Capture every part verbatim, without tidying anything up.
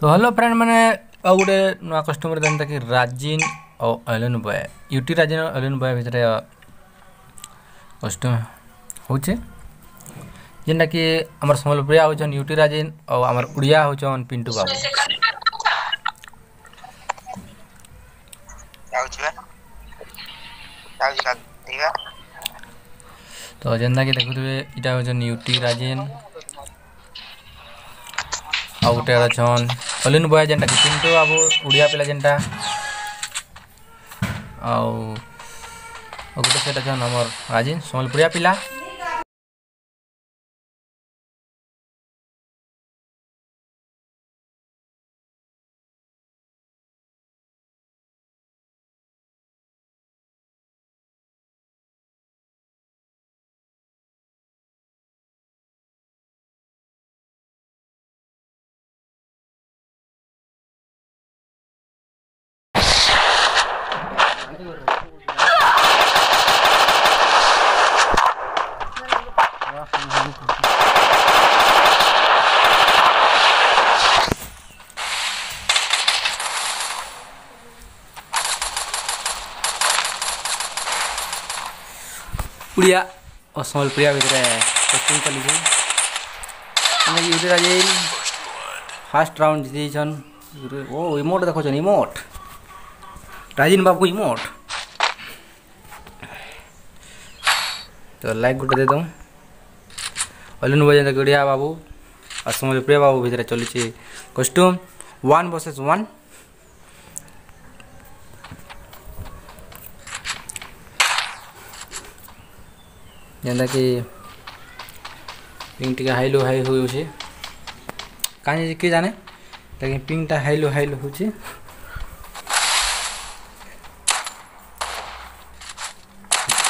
ତ hello friend ମାନେ ଆଉ ଗୋଟେ ନୂଆ କଷ୍ଟମର ଯେନ୍ତାକି ରାଜିନ୍ ଆଉ ଅଲିନ୍ ବୟ ୟୁଟି ରାଜିନ୍ ଆଉ ଅଲିନ୍ ବୟ ଭିତରେ କଷ୍ଟମ ହଉଛେ ଯେନ୍ଟାକି ଆମର ସମ୍ବଲପୁରିଆ ହଉଛନ୍ ୟୁଟି ରାଜିନ୍ ଆଉ ଆମର ଓଡ଼ିଆ ହଉଛନ୍ ପିଣ୍ଟୁ ବାବୁ ଯାଉଛି ବା ଯାଉଛି ଗାଧେଇବା ତ ଯେନ୍ତାକି ଦେଖୁଥିବେ ଇଟା ହଉଛନ୍ ୟୁଟି ରାଜିନ୍ ଆଉ ଗୋଟେ ଅଛନ୍ ଅଲିନ୍ ବୟ ଯେନ୍ଟାକି ପିଣ୍ଟୁ ବାବୁ ଓଡ଼ିଆ ପିଲା ଯେନ୍ଟା ଆଉ ଆଉ ଗୋଟେ ସେଟା ଅଛନ୍ ଆମର ରାଜିନ୍ ସମ୍ବଲପୁରିଆ ପିଲା ଓଡ଼ିଆ ଓ ସମ୍ବଲପୁରିଆ ଭିତରେ କୋଚିଂ ଚାଲିছে ୟୁଟି ରାଜିନ୍ ଫାର୍ଷ୍ଟ ରାଉଣ୍ଡ ଜିତି ଯାଇଛନ୍ ଓ ଇମୋଟ ଦେଖୁଛନ୍ ଇମୋଟ ରାଜିନ୍ ବାବୁ ଇମୋଟ ତ ଲାଇକ୍ ଗୋଟେ ଦେଇଦଉଁ ଅଲିନ୍ ବୟ ଯେନ୍ତାକି ଓଡ଼ିଆ ବାବୁ ଆଉ ସମ୍ବଲପୁରିଆ ବାବୁ ଭିତରେ ଚାଲିଛି କଷ୍ଟ୍ୟୁମ୍ ୱାନ୍ ଭର୍ସେସ୍ ୱାନ୍ ଯେନ୍ତାକି ପିଙ୍ଗ ଟିକେ ହାଇଲୋ ହାଇ ହଉଛେ କାହିଁ କିଏ ଜାନେ ଲେକିନ୍ ପିଙ୍ଗଟା ହାଇଲୋ ହାଇଲୋ ହଉଛେ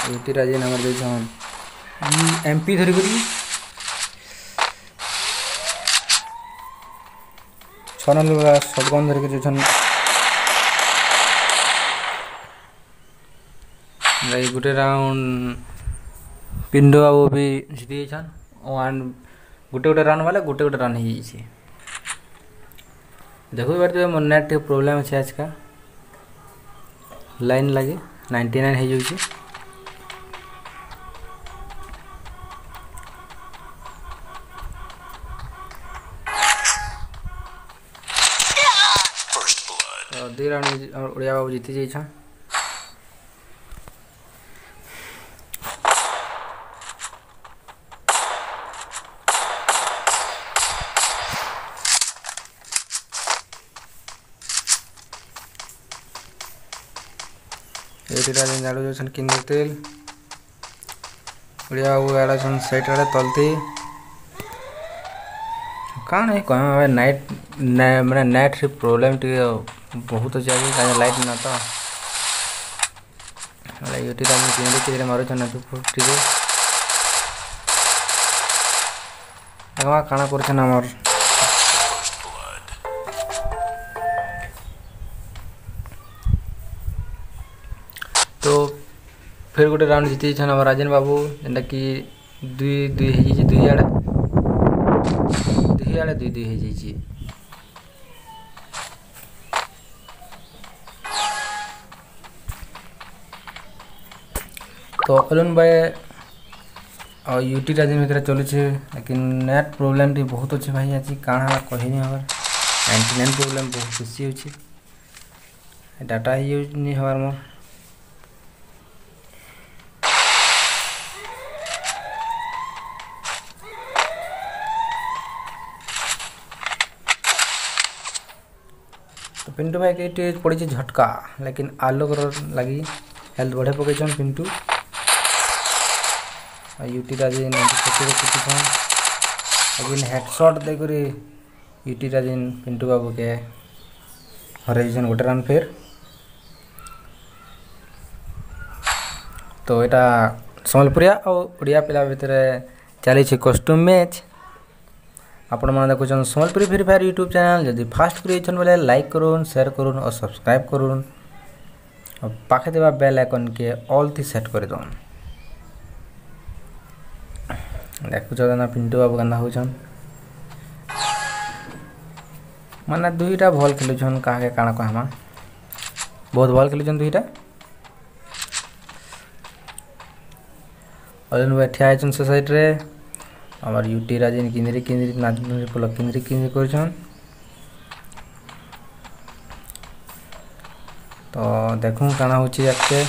ୟୁଟି ରାଜିନ୍ ଆମର ଦେଇଛନ୍ ଏମ୍ ପି ଧରିକରି ଛଅ ନମ୍ବର ସଟଗନ୍ ଧରିକି ଯାଇଛନ୍ ଗୋଟେ ରାଉଣ୍ଡ ପିଣ୍ଡୁ ବାବୁ ବି ଜିତି ଯାଇଛନ୍ ୱାନ୍ ଗୋଟେ ଗୋଟେ ରନ୍ ବାଲେ ଗୋଟେ ଗୋଟେ ରନ୍ ହେଇଯାଇଛି ଦେଖି ପାରୁଥିବେ ମୋର ନେଟ୍ ଟିକେ ପ୍ରୋବ୍ଲେମ୍ ଅଛି ଆଜକା ଲାଇନ୍ ଲାଗି ନାଇଣ୍ଟି ନାଇନ୍ ହେଇଯାଉଛି ତ ଦୁଇ ରାଉଣ୍ଡ ଓଡ଼ିଆ ବାବୁ ଜିତି ଯାଇଛନ୍ ଏଇଟା ଯେନ୍ ଜାଡ଼ୁ ଯାଉଛନ୍ କିନ୍ଦର ତେଲ ଓଡ଼ିଆ ବାବୁ ଆଡ଼େ ଅଛନ୍ ସାଇଟ୍ ଆଡ଼େ ତଲତି କାଣା କହେମା ନାଇଟ୍ ମାନେ ନେଟ୍ରେ ପ୍ରୋବ୍ଲେମ୍ ଟିକେ ବହୁତ ଅଛି ଆଜି କାଣା ଲାଇଟ୍ ନା ତ ୟୁଟି ରାଜିନ୍ କିନ୍ଦର ମାରୁଛନ୍ ଟିକେ ଦେଖମା କାଣା କରୁଛନ୍ ଆମର୍ ତ ଫେର୍ ଗୋଟେ ରାଉଣ୍ଡ ଜିତି ଯାଇଛନ୍ ଆମର ରାଜେନ ବାବୁ ଯେନ୍ଟାକି ଦୁଇ ଦୁଇ ହେଇଯାଇଛି ଦୁଇ ଆଡ଼େ ଦୁଇ ଆଡ଼େ ଦୁଇ ଦୁଇ ହେଇଯାଇଛି ତ ଅରୁଣ ଭାଇ ଆଉ ୟୁଟି ରାଜିନ ଭିତରେ ଚଲୁଛେ ଲେକିନ୍ ନେଟ୍ ପ୍ରୋବ୍ଲେମ୍ ଟିକେ ବହୁତ ଅଛି ଭାଇ ଆଜି କାଣା ହେଲା କହିନି ହବାର ନାଇଣ୍ଟି ନାଇନ୍ ପ୍ରୋବ୍ଲେମ୍ ବହୁତ ବେଶୀ ଅଛି ଡାଟା ହେଇଯାଉନି ହବାର ମୋର୍ ତ ପିଣ୍ଟୁ ଭାଇ କେ ଟିକେ ପଡ଼ିছে ଝଟକା ଲେକିନ୍ ଆଲୋକର ଲାଗି ହେଲ୍ଥ ବଢ଼େଇ ପକେଇଛନ୍ ପିଣ୍ଟୁ ଆଉ ୟୁଟି ରାଜିନ୍ ଫୋର୍ଟିରେ କୁଟିଛନ୍ ଲେକିନ୍ ହେଡ଼ସଟ୍ ଦେଇକରି ୟୁଟି ରାଜିନ୍ ପିଣ୍ଟୁ ବାବୁକେ ହରେଇଛନ୍ ଗୋଟେ ରନ୍ ଫେର୍ ତ ଏଇଟା ସମ୍ବଲପୁରିଆ ଆଉ ଓଡ଼ିଆ ପିଲା ଭିତରେ ଚାଲିଛି କଷ୍ଟ୍ୟୁମ୍ ମ୍ୟାଚ୍ ଆପଣମାନେ ଦେଖୁଛନ୍ Sambalpuri free fire YouTube channel ଯଦି ଫାଷ୍ଟ କରି ଆଇଛନ୍ ବୋଲେ ଲାଇକ୍ କରୁନ୍ ସେୟାର କରୁନ୍ ଆଉ ସବସ୍କ୍ରାଇବ୍ କରୁନ୍ ଆଉ ପାଖେ ଥିବା ବେଲ୍ ଆଇକନ୍କେ ଅଲ୍ ଥି ସେଟ୍ କରିଦଉନ୍ ଦେଖୁଛ କେନ୍ତା ପିଣ୍ଟୁ ବାବୁ କେନ୍ତା ହଉଛନ୍ ମାନେ ଦୁଇଟା ଭଲ୍ ଖେଲୁଛନ୍ କାହାକେ କାଣା କହେମା ବହୁତ ଭଲ୍ ଖେଲୁଛନ୍ ଦୁଇଟା ଅଲିନ୍ ଭାଇ ଠିଆ ହେଇଛନ୍ ସେ ସାଇଡ଼୍ରେ ଆମର ୟୁଟି ରାଜିନ୍ କିନ୍ଦିରି କିନ୍ଦିରି ନାଚ ପଲ କିନ୍ଦିରି କିନ୍ଦିରି କରୁଛନ୍ ତ ଦେଖୁଁ କାଣା ହଉଛି ଆଗକେ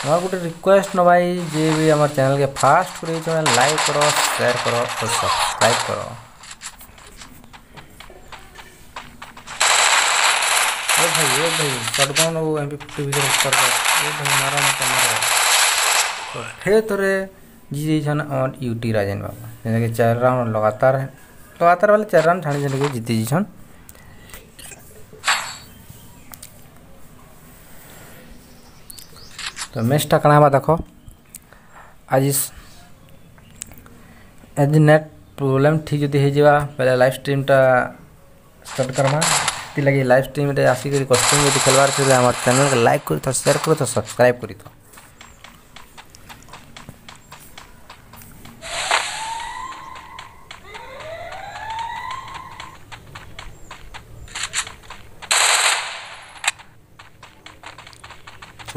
ଆମର ଗୋଟେ ରିକ୍ୱେଷ୍ଟ ନ ଭାଇ ଯିଏ ବି ଆମର ଚ୍ୟାନେଲ୍କେ ଫାଷ୍ଟ କରିଛନ୍ ଲାଇକ୍ କର ସେୟାର କର ଓ ସବସ୍କ୍ରାଇବ୍ କର ओ भाई ओ भाई शॉटगन और एमपी फिफ्टी ଭିତରେ ଫରକ ଏ ଭାଇ ମାର ମତେ ମାର ତ ଫେର୍ ଥରେ ଜିତି ଯାଇଛନ୍ ଆମର ୟୁଟି ରାଜେନ ବାବୁ ଯେନ୍ଟାକି ଚାରି ରାଉଣ୍ଡ ଲଗାତାର ଲଗାତାର ବେଲେ ଚାରି ରାଉଣ୍ଡ ଛାଡ଼ି ଛାଡ଼ିକି ଜିତି ଯାଇଛନ୍ ତ ମ୍ୟାଚ୍ଟା କାଣା ହେବା ଦେଖ ଆଜି ଆଜି ନେଟ୍ ପ୍ରୋବ୍ଲେମ୍ ଠିକ୍ ଯଦି ହେଇଯିବା ବେଲେ ଲାଇଭ୍ ଷ୍ଟ୍ରିମ୍ଟା ଷ୍ଟାର୍ଟ କର୍ମା ସେଥିଲାଗି ଲାଇଭ୍ ଷ୍ଟ୍ରିମ୍ରେ ଆସିକରି କଷ୍ଟ୍ୟୁମ୍ ଯଦି ଖେଲବାର ଥିଲେ ଆମର ଚ୍ୟାନେଲ୍କେ ଲାଇକ୍ କରିଥାଅ ସେୟାର କରିଥାଅ ସବସ୍କ୍ରାଇବ୍ କରିଥାଅ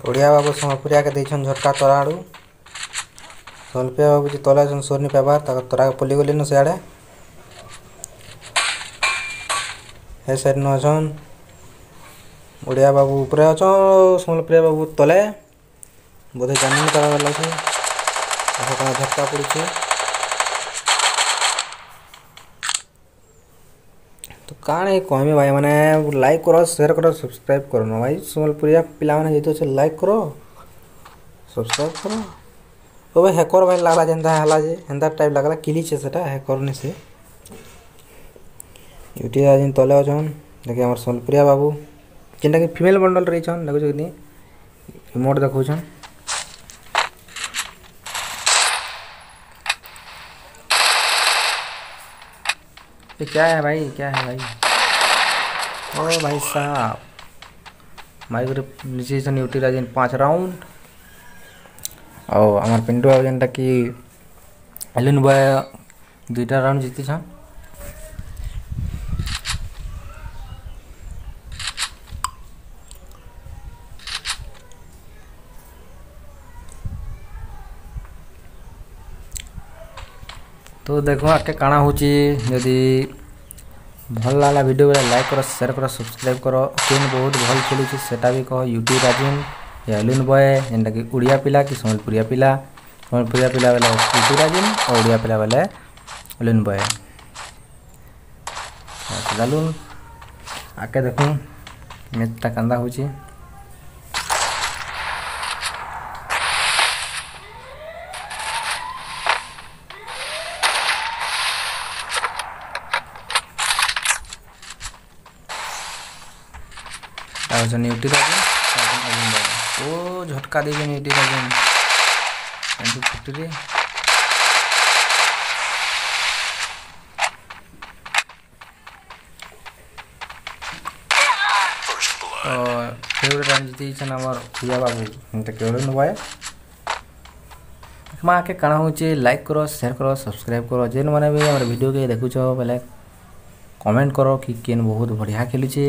ଓଡ଼ିଆ ବାବୁ ସମ୍ବଲପୁରିଆକେ ଦେଇଛନ୍ ଝଟକା ତରା ଆଡ଼ୁ ସମ୍ବଲପୁରିଆ ବାବୁ ଯେ ତଲେ ଅଛନ୍ ସୋର୍ ନି ପାଇବାର୍ ତାକର୍ ତରାକେ ପଲି ଗଲେନ ସିଆଡ଼େ ହେ ସାଇଡ଼୍ ନ ଅଛନ୍ ଓଡ଼ିଆ ବାବୁ ଉପରେ ଅଛନ୍ ସମ୍ବଲପୁରିଆ ବାବୁ ତଲେ ବୋଧେ ଜାନି ପାରବାର ଲାଗୁଛେ ଦେଖ କାଣା ଝଟକା ପଡ଼ୁଛେ ତ କାଣା କହେମି ଭାଇ ମାନେ ଲାଇକ୍ କର ସେୟାର କର ସବସ୍କ୍ରାଇବ୍ କର ନ ଭାଇ ସମ୍ବଲପୁରିଆ ପିଲାମାନେ ଯେତେ ଅଛେ ଲାଇକ୍ କର ସବସ୍କ୍ରାଇବ୍ କର ଓ ଭାଇ ହ୍ୟାକର ଭାଇ ଲାଗଲା ଯେନ୍ତା ହେଲା ଯେ ହେନ୍ତା ଟାଇପ୍ ଲାଗଲା କିଲିଛେ ସେଟା ହ୍ୟାକର ନି ସେ ୟୁଟି ଯେନ୍ ତଲେ ଅଛନ୍ ଦେଖି ଆମର ସମ୍ବଲପୁରିଆ ବାବୁ ଯେନ୍ଟାକି ଫିମେଲ୍ ବଣ୍ଡଲ୍ ରହିଛନ୍ ଦେଖୁଛ କି ନି ଇମୋଟ୍ ଦେଖଉଛନ୍ ये क्या है भाई क्या है भाई ओ भाई साहब माइक नीचे यूटी राजन पाँच राउंड ଆଉ ଆମର ପିଣ୍ଟୁ ବାବୁ ଯେନ୍ଟାକି ଏଲିନ୍ ବୟ ଦୁଇଟା ରାଉଣ୍ଡ ଜିତିଛନ୍ ତ ଦେଖ ଆଗକେ କାଣା ହଉଛି ଯଦି ଭଲ ଲାଗଲା ଭିଡ଼ିଓ ବେଲେ ଲାଇକ୍ କର ସେୟାର କର ସବସ୍କ୍ରାଇବ୍ କର କେନ୍ ବହୁତ ଭଲ ଖେଳୁଛି ସେଟା ବି କହ ୟୁଟି ରାଜିନ୍ ୟା ଏଲିନ୍ ବୟ ଯେନ୍ଟାକି ଓଡ଼ିଆ ପିଲା କି ସମ୍ବଲପୁରିଆ ପିଲା ସମ୍ବଲପୁରିଆ ପିଲା ବେଲେ ୟୁଟି ରାଜିନ୍ ଆଉ ଓଡ଼ିଆ ପିଲା ବେଲେ ଏଲିନ୍ ବୟ ଚାଲୁନ୍ ଆଗକେ ଦେଖୁନ୍ ମ୍ୟାଚ୍ଟା କାନ୍ଦା ହଉଛି ଅଛନ୍ ୟୁଟି ରାଜନ ଓ ଝଟକା ଦେଇଛନ୍ ୟୁଟି ରାଜନ ଏମପି ଫୋର୍ଟିରେ ତ ଫେର୍ ଗୋଟେ ରାଉଣ୍ଡ ଜିତିଛନ୍ ଆମର ପ୍ରିୟା ବାବୁ ଏନ୍ତା କେବଳ ନବାଏ ମା ଆକେ କାଣା ହଉଛେ ଲାଇକ୍ କର ସେୟାର କର ସବସ୍କ୍ରାଇବ୍ କର ଯେନ୍ ମାନେ ବି ଆମର ଭିଡ଼ିଓକେ ଦେଖୁଛ ବେଲେ କମେଣ୍ଟ କର କି କେନ୍ ବହୁତ ବଢ଼ିଆ ଖେଲୁଛେ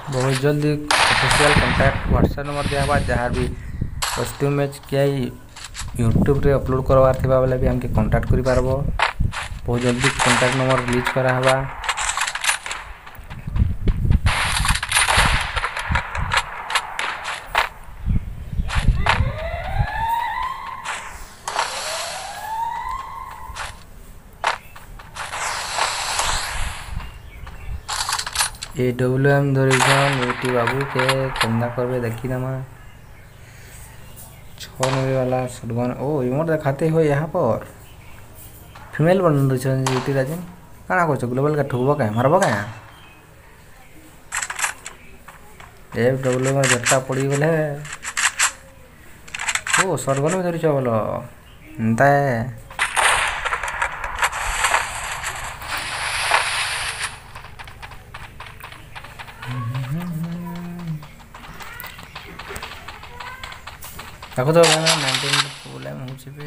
बहुत जल्दी ऑफिशियल कॉन्टैक्ट व्हाट्सएप नंबर दिया जहाँ भी कॉस्ट्यूम मैच किया यूट्यूब रे अपलोड करवार थिबा बेले भी हमके कांटेक्ट करी पारबो बहुत जल्दी कांटेक्ट नंबर रिलीज करा हवा ए डब्ल्यू एम धरिछन यूटी बाबू के केन्दा करबे देखी दमा छः नंबर वाला शॉटगन ओ इमोट दिखाते हो यहाँ पर फीमेल बन रही यूटी राजन काଣା করছো ग्लोबल का ठुकबो का मारबो का एफ डब्ल्यू में झटका पड़ी गले ओ शॉटगन में धरिछ बोलो एंता ଦେଖୁଥିବ ନାଇନଟିନ୍ ପ୍ରୋବ୍ଲେମ୍ ହେଉଛି ବି।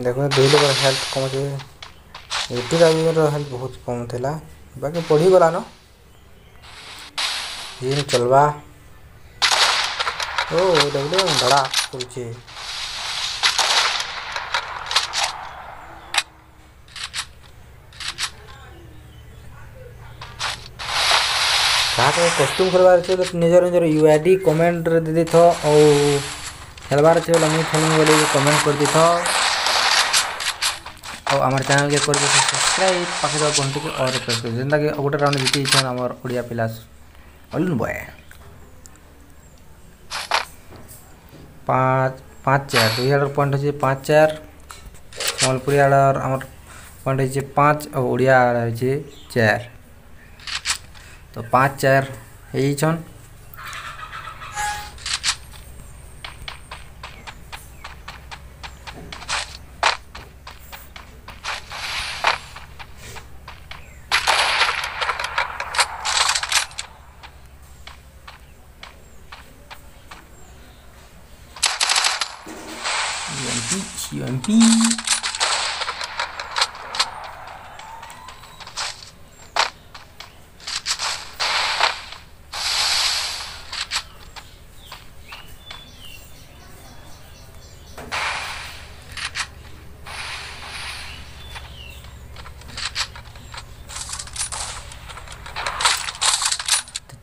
ଦେଖ, ଦୁଇ ଲୋକର ହେଲ୍ଥ କମ୍ ଅଛି। ୟୁଟି ରାଜର ହେଲ୍ଥ ବହୁତ କମ୍ ଥିଲା, ବାକି ବଢ଼ିଗଲାନ। ଜିନ୍ ଚଲବା। ଓ ଏଇଟା ଗୋଟେ ଧଡ଼ା କରୁଛେ। କାହାକୁ କଷ୍ଟ୍ୟୁମ୍ ଖେଳବାର ଅଛି ବୋଲେ ନିଜର ନିଜର you I D କମେଣ୍ଟରେ ଦେଇ ଦେଇଥ, ଆଉ ଖେଳବାର ଅଛି ବୋଲେ ମୁଇଁ ଖେଳିବି ବୋଲି କମେଣ୍ଟ କରିଦେଇଥ। ଆଉ ଆମର ଚ୍ୟାନେଲ୍କେ କରିଦିଅ ସବସ୍କ୍ରାଇବ୍, ପାଖେ ଥିବା ଘଣ୍ଟିକେ ଅଲ୍ ପ୍ରେସ୍ କରି। ଯେନ୍ତାକି ଗୋଟେ ରାଉଣ୍ଡ ଜିତି ଯାଇଛନ୍ ଆମର ଓଡ଼ିଆ ପିଲା ଅଲୁନ ବୟ। ପାଞ୍ଚ ପାଞ୍ଚ ଚାରି, ଦୁଇ ଆଡ଼ର ପଏଣ୍ଟ ଅଛି ପାଞ୍ଚ ଚାରି। ସମ୍ବଲପୁରୀ ଆଡ଼ର ଆମର ପଏଣ୍ଟ ହେଇଛି ପାଞ୍ଚ ଆଉ ଓଡ଼ିଆ ଆଡ଼ର ହେଇଛି ଚାରି। ତ ପାଞ୍ଚ ଚାରି ହେଇଯାଇଛନ୍। U M P, U M P।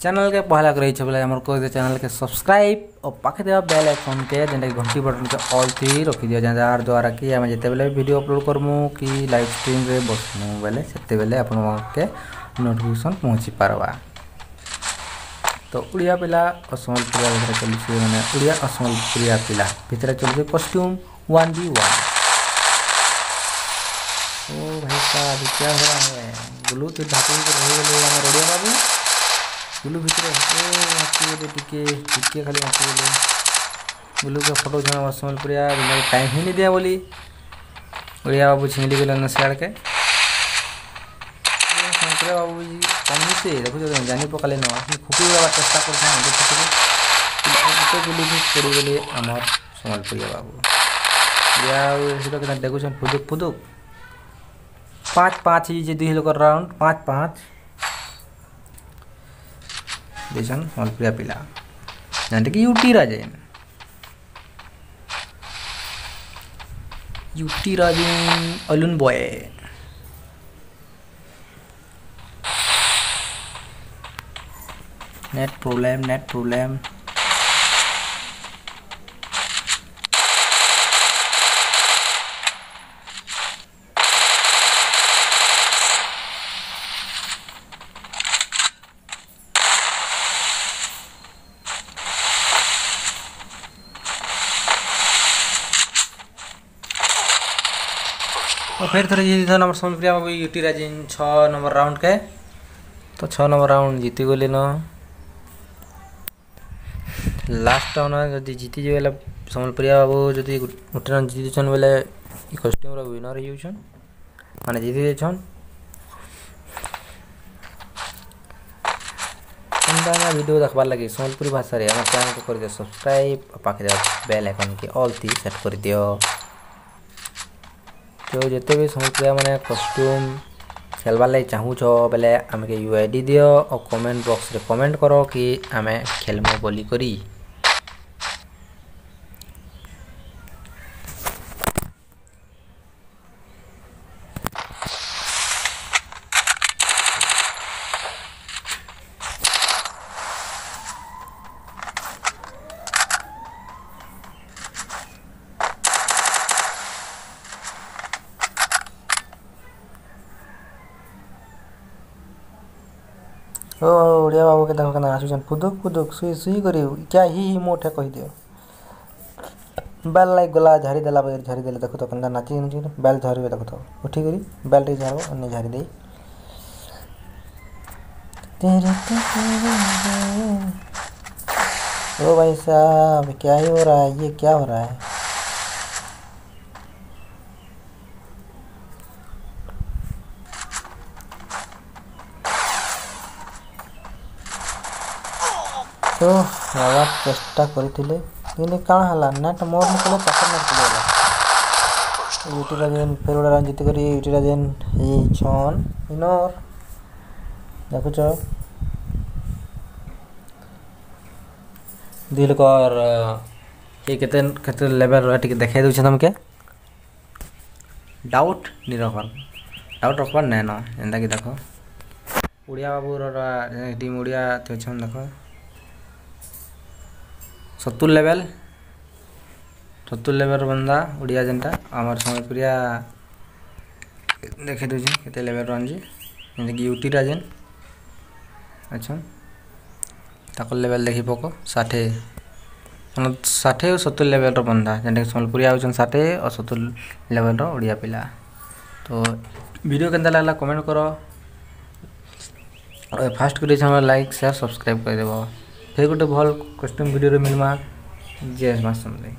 Channel के पहला करे बोले आमर कह चैनल के सब्सक्राइब और पाखे देवा बेल आइकन के, जेनटा घंटी बटन के ऑल थी रखी दियो, जार द्वारा कि आम जिते बेले वीडियो अपलोड करमु कि लाइव स्ट्रीम रे बसमु बेले सेते बेले आपण के नोटिफिकेशन पहुंची पारबा। तो उड़िया पिला और सम्बलपुरिया भितर चलुଛି, माने उड़िया और सम्बलपुरिया पिला भितर चलुଛି कॉस्ट्यूम वन बी वन। ओ भाई साहब, क्या हो रहा है? ब्लू तो ढाकी रही गले हमर ओडिया बाबू बुलु भितर। ओ बाकी टिके टिके खाली बाकी गले। बुलु के फोटो छना सम्बलपुरिया टाइम ही नहीं दिया बोली ओडिया बाबू छिंगली गले न सियाड़ के। सम्बलपुरिया बाबू जी कम से देखो जानी पकाले न खुपी देवार चेष्टा करछन। गोटे गुली भी पड़ी गले आमर सम्बलपुरिया बाबू। ओडिया सेटा केना देखुछन फुदुक फुदुक। पाँच पाँच ही जे दुई लोक राउंड पाँच पाँच देछन सम्बलपुरिया पिला, ଯେନ୍ଟାକି UT Rajen, UT Rajen Alun boy. Net problem, net problem. और फिर थोड़े जीती नंबर सम्बलपुरिया बाबू यूटी राजेन छः नंबर राउंड के। तो छः नंबर राउंड जीती गले न। लास्ट राउंड जदि जीती जे बेले सम्बलपुरिया बाबू जदि गोटे राउंड जीती छन बेले इ कॉस्ट्यूम रो विनर होई जाउछन, माने जीती जाउछन। एंदा वीडियो देखबार लगे सम्बलपुरी भाषा रे हमर चैनल के कर दियो सब्सक्राइब और पाखे बेल आइकन के ऑल ती सेट कर दियो। तो जिते भी सम्बलपुरिया माने कॉस्ट्यूम खेलबार लगे चाहूछ बेले आमके you I D दियो और कमेंट बॉक्स रे कमेंट करो कि आमे खेलमु बोली करी। ओ ओडिया बाबू के देखो केना आसुछन फुदुक फुदुक सुई सुई करी क्या ही ही मोठे कहि दियो। बेल लाइक गला झाड़ी देला बगैर झाड़ी देले देखो तो केना नाची नाची बेल झाड़िबे। देखो तो उठी करी बेल टे झाड़ो अन्य झाड़ी देई। ओ भाई साहब क्या ही हो रहा है, ये क्या हो रहा है? ତ ନେବାର୍ ଚେଷ୍ଟା କରିଥିଲେ, କିନ୍ତୁ କାଣା ହେଲା, ନେଟ୍ ମୋର୍ ନି ପଲେ, ତାକର୍ ନେଟ୍ ପଲେଇଗଲା। ୟୁଟି ରାଜେନ୍ ଫେର୍ ଗୋଟେ ରନ୍ ଜିତିକରି ୟୁଟି ରାଜେନ୍ ହେଇଯାଇଛନ୍ ୱିନର୍। ଦେଖୁଛ, ଦୁଇ ଲୋକର କିଏ କେତେ କେତେ ଲେଭେଲ୍ ଟିକେ ଦେଖେଇ ଦଉଛେ ତମକେ। ଡାଉଟ୍ ନି ରଖବାର୍, ଡାଉଟ୍ ରଖବାର୍ ନାଇଁନ। ଯେନ୍ତାକି ଦେଖ, ଓଡ଼ିଆ ବାବୁର ଟିମ୍ ଓଡ଼ିଆ ଅଛନ୍, ଦେଖ, ସତୁର ଲେଭେଲ୍, ସତୁର ଲେଭେଲ୍ର ବନ୍ଦା ଓଡ଼ିଆ। ଯେନ୍ଟା ଆମର୍ ସମ୍ବଲପୁରିଆ ଦେଖେଇ ଦଉଛେ କେତେ ଲେଭେଲ୍ର ଆଣିଛି। ଯେନ୍ତାକି ୟୁଟିଟା ଯେନ୍ ଅଛନ୍, ତାକର୍ ଲେଭେଲ୍ ଦେଖି ପକ, ଷାଠିଏ, ମାନେ ଷାଠିଏ ଆଉ ସତୁର ଲେଭେଲ୍ର ବନ୍ଦା। ଯେନ୍ଟାକି ସମ୍ବଲପୁରିଆ ହଉଛନ୍ ଷାଠିଏ ଆଉ ସତୁର ଲେଭେଲ୍ର ଓଡ଼ିଆ ପିଲା। ତ ଭିଡ଼ିଓ କେନ୍ତା ଲାଗଲା କମେଣ୍ଟ କର। ଫାଷ୍ଟ କରି ଲାଇକ୍, ସେୟାର, ସବସ୍କ୍ରାଇବ୍ କରିଦେବ। ଫେର୍ ଗୋଟେ ଭଲ୍ କଷ୍ଟମ୍ ଭିଡ଼ିଓରେ ମିଲ୍ମା। ଜୟ ମା ସମଲେଇ।